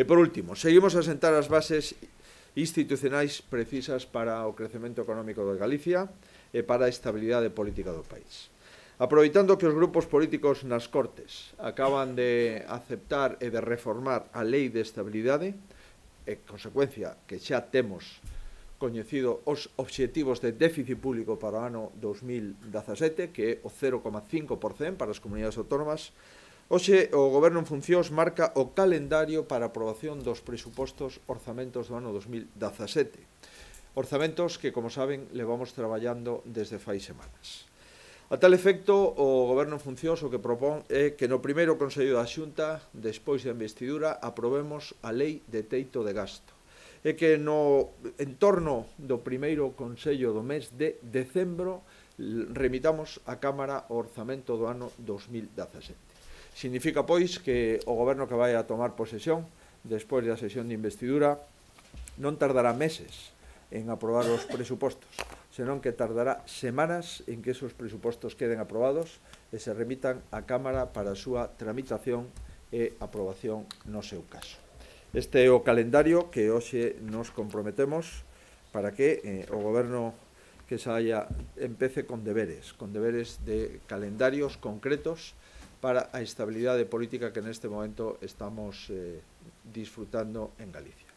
E por último, seguimos a sentar as bases institucionais precisas para o crecemento económico de Galicia e para a estabilidade política do país. Aproveitando que os grupos políticos nas Cortes acaban de aceptar e de reformar a Lei de Estabilidade, e, consecuencia, que xa temos coñecido os obxectivos de déficit público para o ano 2017, que é o 0,5% para as comunidades autónomas, hoxe o Goberno en funcións marca o calendario para a aprobación dos presupostos orzamentos do ano 2017. Orzamentos que, como saben, levamos traballando desde fai semanas. A tal efecto, o Goberno en funcións o que propón é que no primeiro Consello da Xunta, despois da investidura, aprobemos a Lei de Teito de Gasto. E que no entorno do primeiro Consello do mes de decembro remitamos á Cámara o orzamento do ano 2017. Significa, pois, que o Goberno que vai a tomar posesión despois da sesión de investidura non tardará meses en aprobar os presupostos, senón que tardará semanas en que esos presupostos queden aprobados e se remitan á Cámara para a súa tramitación e aprobación no seu caso. Este é o calendario que hoxe nos comprometemos para que o Goberno que saia empece con deberes de calendarios concretos para a estabilidade política que neste momento estamos disfrutando en Galicia.